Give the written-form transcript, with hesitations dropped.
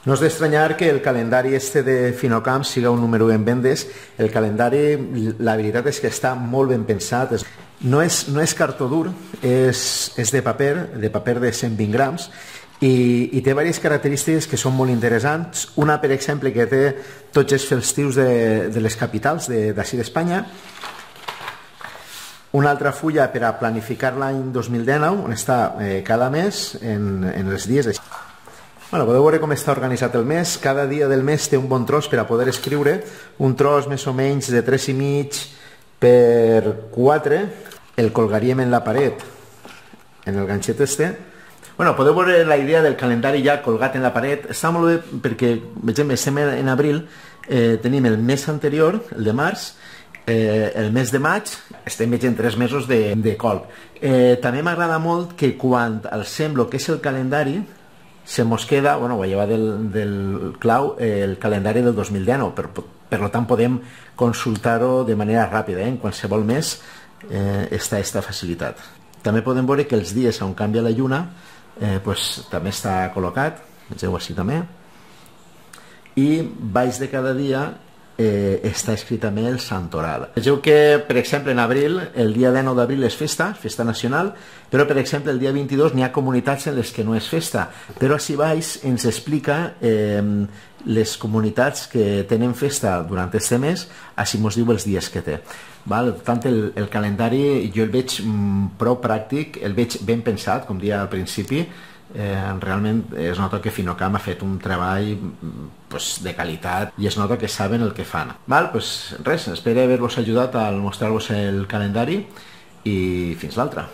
No és d'estranyar que el calendari este de Finocamp siga un número en vendes. El calendari, la veritat és que està molt ben pensat. No és cartó dur, és de paper de 120 grams, i té diverses característiques que són molt interessants. Una, per exemple, que té tots els festius de les capitals d'ací d'Espanya. Una altra fulla per a planificar l'any 2019, on està cada mes en els dies. Bueno, podeu veure com està organitzat el mes. Cada dia del mes té un bon tros per a poder escriure, un tros més o menys de 3,5 per 4. El colgaríem en la paret, en el ganxet este. Bueno, podeu veure la idea del calendari ja colgat en la paret. Està molt bé perquè, veiem, estem en abril, tenim el mes anterior, el de març, el mes de maig, estem veient 3 mesos de colp. També m'agrada molt que quan alcem el que és el calendari, se mos queda, bueno, ho lleva del clau, el calendari del 2019, per tant podem consultar-ho de manera ràpida, en qualsevol mes està aquesta facilitat. També podem veure que els dies on canvia la lluna també està col·locat, vegeu així també, i baix de cada dia està escrit també el santoral. Vegeu que, per exemple, en abril, el dia 19 d'abril és festa nacional, però, per exemple, el dia 22 n'hi ha comunitats en les que no és festa, però així baix ens explica les comunitats que tenen festa durant aquest mes, així mos diu els dies que té. Per tant, el calendari jo el veig prou pràctic, el veig ben pensat, com deia al principi. Realment es nota que Finocamp ha fet un treball de qualitat i es nota que saben el que fan. Res, espero haver-vos ajudat a mostrar-vos el calendari i fins l'altra.